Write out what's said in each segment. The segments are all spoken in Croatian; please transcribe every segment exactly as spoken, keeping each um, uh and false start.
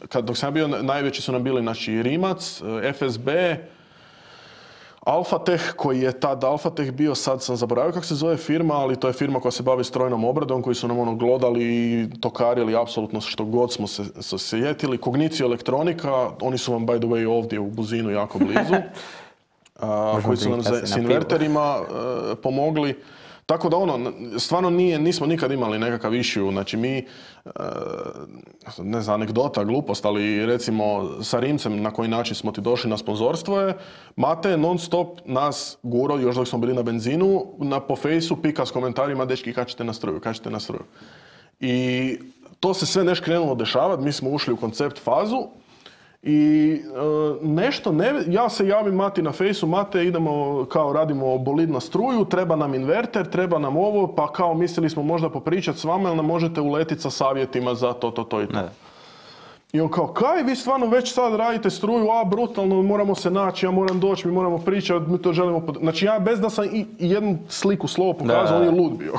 kad, dok sam ja bio, najveći su nam bili znači, Rimac, F S B, Alphatech, koji je tad Alphatech bio, sad sam zaboravio kako se zove firma, ali to je firma koja se bavi strojnom obradom, koji su nam ono glodali i tokarili apsolutno što god smo se, se sjetili. Cognicio elektronika, oni su vam by the way ovdje u Buzinu jako blizu, a, koji su nam za, s inverterima uh, pomogli. Tako da ono, stvarno nije, nismo nikad imali nekakav issue, znači mi, ne znam, anegdota, glupost, ali recimo sa Rimcem na koji način smo ti došli na sponzorstvo je, Mate non stop nas guro, još dok smo bili na benzinu, na, po fejsu pika s komentarima, dečki, kad ćete na struju, kad ćete na struju. I to se sve nešto krenulo dešavati, mi smo ušli u koncept fazu, i e, nešto, ne, ja se javim Mati na fejsu, Mate, idemo, kao radimo bolid na struju, treba nam inverter, treba nam ovo, pa kao mislili smo možda popričati s vama, ili nam možete uletiti sa savjetima za to, to, to i to. Ne. I on kao, kaj, vi stvarno već sad radite struju, a brutalno, moramo se naći, ja moram doći, mi moramo pričati, mi to želimo... Pod... Znači ja bez da sam i, i jednu sliku, slovo pokazao, on je lud bio.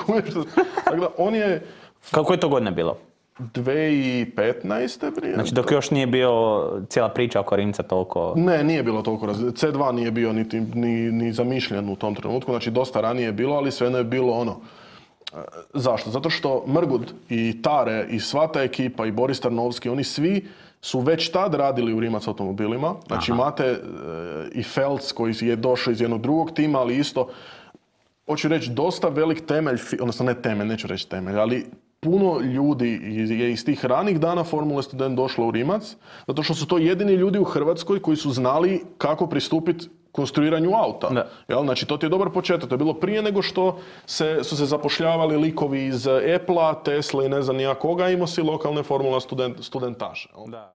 Dakle, on je... Kako je to godine bilo? dvije tisuće petnaeste prije. Znači dok još nije bio cijela priča oko Rimca toliko... Ne, nije bilo toliko različno. C dva nije bio niti, ni, ni zamišljen u tom trenutku, znači dosta ranije je bilo, ali svejedno je bilo ono... Zašto? Zato što Mrgud i Tare i sva ta ekipa i Boris Tarnovski, oni svi su već tad radili u Rimac automobilima. Znači Aha. imate e, i Felc koji je došao iz jednog drugog tima, ali isto, hoću reći, dosta velik temelj, odnosno ne temelj, neću reći temelj, ali puno ljudi je iz tih ranih dana Formule Student došlo u Rimac, zato što su to jedini ljudi u Hrvatskoj koji su znali kako pristupiti konstruiranju auta. Jel? Znači, to ti je dobar početak. To je bilo prije nego što se, su se zapošljavali likovi iz Apple-a, Tesla i ne znam nija koga, imao si lokalne Formula student, studentaše. Da.